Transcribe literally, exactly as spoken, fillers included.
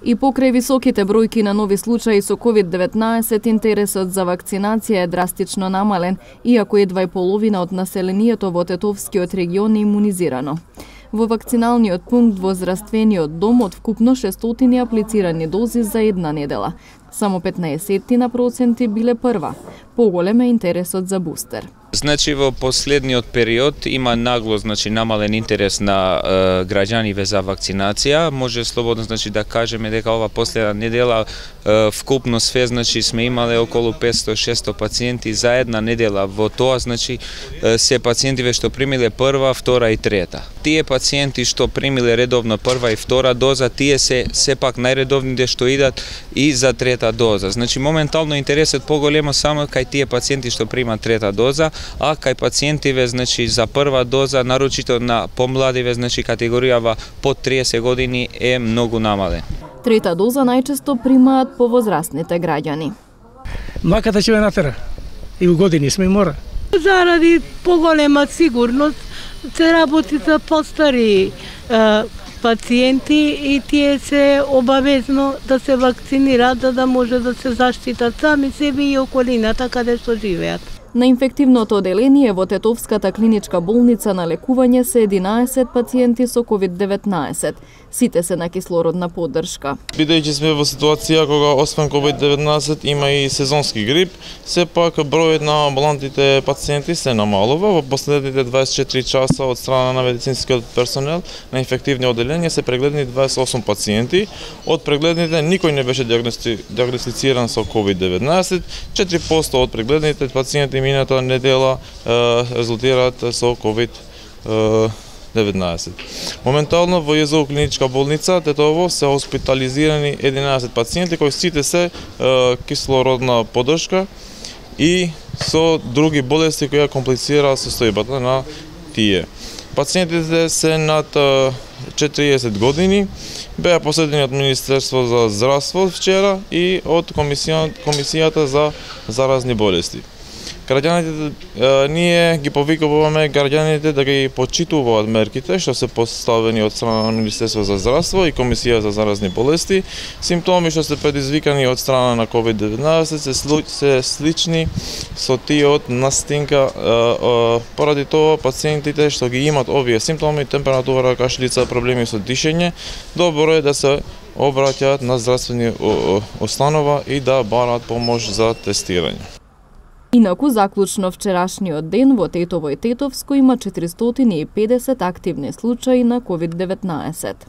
И покрај високите бројки на нови случаи со ковид деветнаесет, интересот за вакцинација е драстично намален, иако едва и половина од населението во Тетовскиот регион е имунизирано. Во вакциналниот пункт во здравствениот дом од вкупно шестстотини аплицирани дози за една недела. Само петнаесет проценти биле прва. Поголем е интересот за бустер. Значи во последниот период има нагло, значи намален интерес на е, граѓаниве за вакцинација. Може слободно, значи, да кажеме дека ова последна недела е, вкупно све, значи, сме имале околу петстотини до шестстотини пациенти за една недела. Во тоа, значи, е, се пациентиве што примиле прва, втора и трета. Тие пациенти што примиле редовно прва и втора доза, тие се сепак најредовните што идат и за трета доза. Значи моментално интересот поголемо само кај тие пациенти што примат трета доза, а кај пациентиве, значи, за прва доза, нарочито на помладиве, значи категоријава под триесет години, е многу намален. Трета доза најчесто примаат повозрастните граѓани. Маката ќе ме натера. И у години сме мора. Заради поголема сигурност се работи за постари е, пациенти и тие се обавезно да се вакцинираат за да може да се заштитат сами себе и околината каде што живеат. На инфективното оделение во Тетовската клиничка болница на лекување се единаесет пациенти со ковид деветнаесет. Сите се на кислородна поддршка. Бидејќи сме во ситуација кога освен ковид деветнаесет има и сезонски грип, сепак бројот на амбулантните пациенти се намалува. Во последните дваесет и четири часа од страна на медицинскиот персонел на инфективни оделенија се прегледани дваесет и осум пациенти. Од прегледните никој не беше диагностициран со ковид деветнаесет. четири проценти од прегледните пациенти мината недела е, резултираат со ковид деветнаесет. Моментално во ЈЗУ клиничка болница Тетово се хоспитализирани единаесет пациенти кои сите се е, кислородна поддршка и со други болести кои комплицираат состојбата на тие. Пациентите се над четириесет години, беа посетени од Министерство за здравство вчера и од комисија, комисијата за заразни болести. Граѓаните, ние ги повикуваме граѓаните да ги почитуваат мерките што се поставени од страна на Министерство за здравство и Комисија за заразни болести. Симптоми што се предизвикани од страна на ковид деветнаесет се, се слични со тие од настинка. Поради тоа пациентите што ги имат овие симптоми, температура, кашлица, проблеми со дишење, добро е да се обраќаат на здравствени установа и да бараат помош за тестирање. Инаку, заклучно вчерашниот ден во Тетово и Тетовско има четиристотини и педесет активни случаи на ковид деветнаесет.